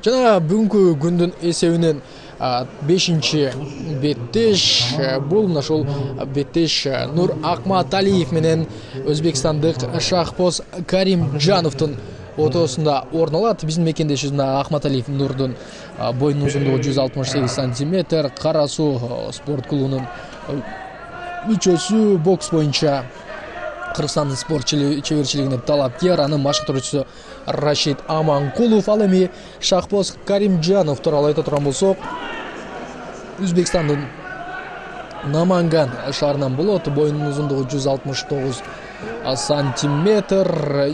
Жана бүгүнкү күндүн эсебинен 5-беттеш бул мына ушул беттеш Нур Акматалиев менен өзбекстандык Шахпоз Каримжановдун ортосунда орун алат. Биздин мекендешибиз мына Акматалиев Нурдун боюнун узундугу 168 сантиметр, Кара Суу спорт клубунун мүчөсү, бокс боюнча Кыргызстандын спорт чеберчилигине талапкер, анын машыктыруучусу Рашид Аманкулов. Ал эми Шахпоз Каримжанов тууралуу айта турган болсок, Өзбекстандын Наманган шаарынан болот. Боюнун узундугу 169 сантиметр.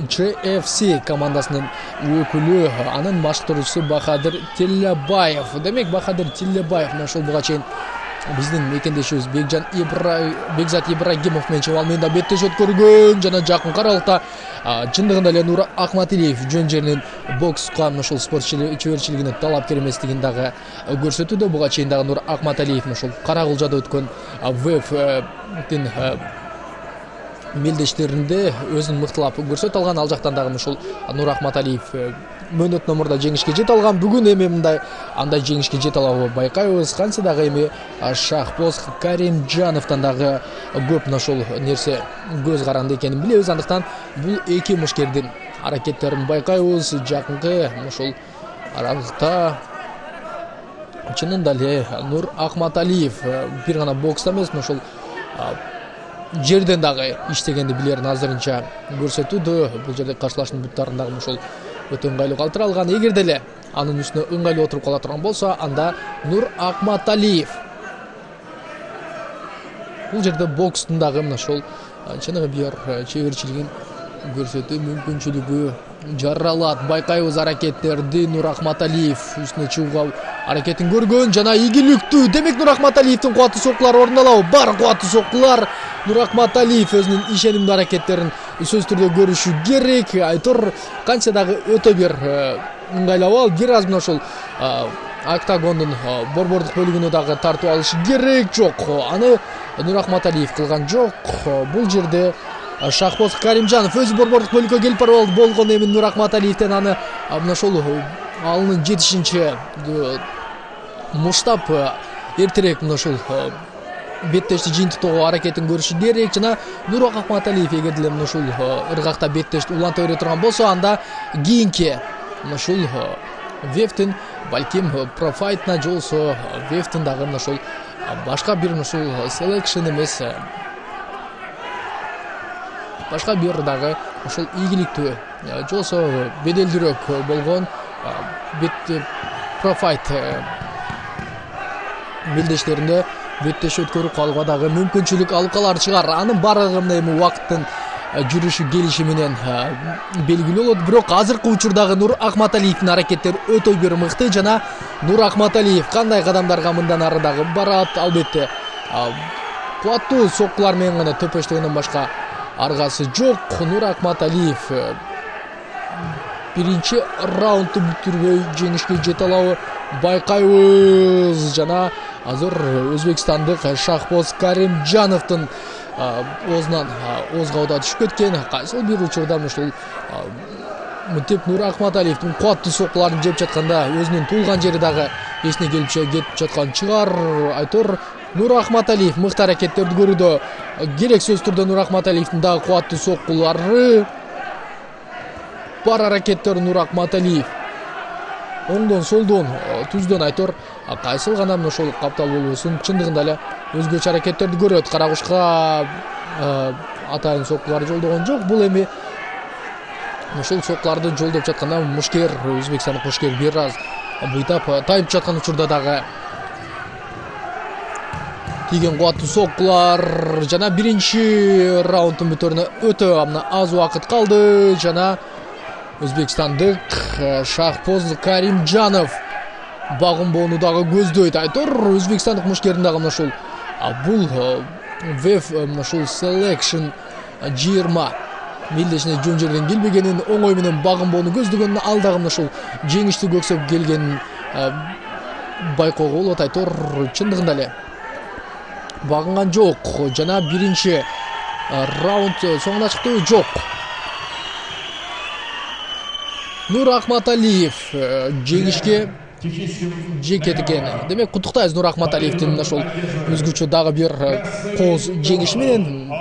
JFC командасынын өкүлү, анын машыктыруучусу Бахадыр Тиллебаев. Демек Бахадыр Тиллебаев мына ушул буга чейин биздин мекендешибиз Бекзат Ибрагимов менен чабал менде беттеш өткөргөн жана жакынкы аралыкта чындыгында эле Нур Акматалиев жөн жеринин бокска ушул спорт чеберчилигине талапкер эместигин дагы көрсөтүүдө. Буга чейин дагы Нур Акматалиев ушул Карагулжада өткөн ВФтин мелдештеринде өзүн мыктылап көрсөтө алган. Ал жактан дагы ушул Нур Акматалиев мөөнөт номурда жеңишке жете алган. Бүгүн эми андай жеңишке жете алабы байкайбыз. Кантсе дагы эми Шахпоз Каримжановдон дагы көп ушул нерсе көз каранды экенин билебиз. Андыктан бул эки мушкердин аракеттерин байкайбыз. Жакынкы ушул аралыкта чынында эле Нур Акматалиев бир гана бокста эмес, ушул жерден дагы иштегенди билерин азырынча көрсөтүүдө. Бул жерде каршылаштын буттарын дагы ушул өтө ыңгайлуу калтыра алган. Эгерде эле анын үстүнө ыңгайлуу отуруп кала турган болсо, анда Нур Акматалиев бул жерде бокстун дагы мына ушул чыныгы бир чеберчилигин көрсөтүү мүмкүнчүлүгү жаралат. Байкайбыз аракеттерди. Нур Акматалиев үстүнө чыгууга аракетин көргөн жана ийгиликтүү. Демек Нур Акматалиевдин кубаттуу соккулары орун алабы? Бар кубаттуу соккулар. Нур Акматалиев өзүнүн ишенимдүү аракеттерин сөзсүз түрдө көрүшү керек. Айтор канча дагы өтө бир ыңгайлабал, бир аз мына ушул октагондун борбордук бөлүгүнө дагы тартып алышы керек. Жок, аны Нур Акматалиев кылган жок. Бул жерде Шахпоз Каримжанов өзү борбордук бөлүккө келип барып болгон. Эми Нур Акматалиевден аны мына ушул алынын жетишинче муштап эртерээк мына ушул беттешти жыйынтыктоого аракетин көрүшү керек. Жана Нур Акматалиев эгер деле мына ушул ыргакта беттешти уланта бере турган болсо, анда кийинки мына ушул ВФтин балким профайтына же болбосо ВФтин дагы мына ушул башка бир мына ушул селекшн эмес, башка бир дагы ушул ийгиликтүү же болбосо беделдүүрөөк болгон бет профайт мелдештеринде беттеш өткөрүп калууга дагы мүмкүнчүлүк алып калар чыгар. Анын баардыгы мына эми убакыттын жүрүшү келиши менен белгилүү болот. Бирок азыркы учурдагы Нур Акматалиевдин аракеттери өтө бир мыкты жана Нур Акматалиев кандай кадамдарга мындан ары дагы барат? Албетте кубаттуу соккулар менен гана төпөштөгөндөн башка аргасы жок. Нур Акматалиев биринчи раундду бүтүрбөй жеңишке жете алабы байкайбыз. Жана азыр өзбекстандык Шахпоз Каримжановдун оозунан ооз кабыда түшүп кеткен. Кайсыл бир учурда ушул мынтип Нур Акматалиевдин кубаттуу соккуларын жеп жатканда өзүнүн туулган жери дагы эсине келип жаткан чыгар. Айтор Нур Акматалиев мыкты аракеттерди көрүүдө. Керек сөзсүз түрдө Нур Акматалиевдин дагы кубаттуу соккулары бар. Аракеттер Нур Акматалиев оңдон, солдон, түздөн айтор кайсыл гана мына ушул каптал болбосун чындыгында эле өзгөчө аракеттерди көрөт. Карагушка атайын соккулар жолдогон жок. Бул эми ушул соккуларды жолдоп жатканда мушкер, өзбекстандык мушкер бир аз быйтап тайып жаткан учурда дагы тийген кубаттуу соккулар. Жана биринчи раунддун бүтөрүнө өтө аз убакыт калды жана өзбекстандык Шахпоз Каримжанов багынбоону дагы көздөйт. Айтор өзбекстандык мушкердин дагы мына ушул бул ВФ мына ушул селекшн 20 мелдешине жөн жерден келбегенин, оңой менен багынбоону көздөгөнүн, ал дагы мына ушул жеңишти көксөп келгенин байкоого болот. Айтор чындыгында эле багынган жок жана биринчи раунд соңуна чыкты. Жок, Нур Ахматалиев жеңишке жекет экен. Демек куттуктайбыз Нур Ахматалиевдин ошол өзгөчө дагы бир кооз жеңиши менен.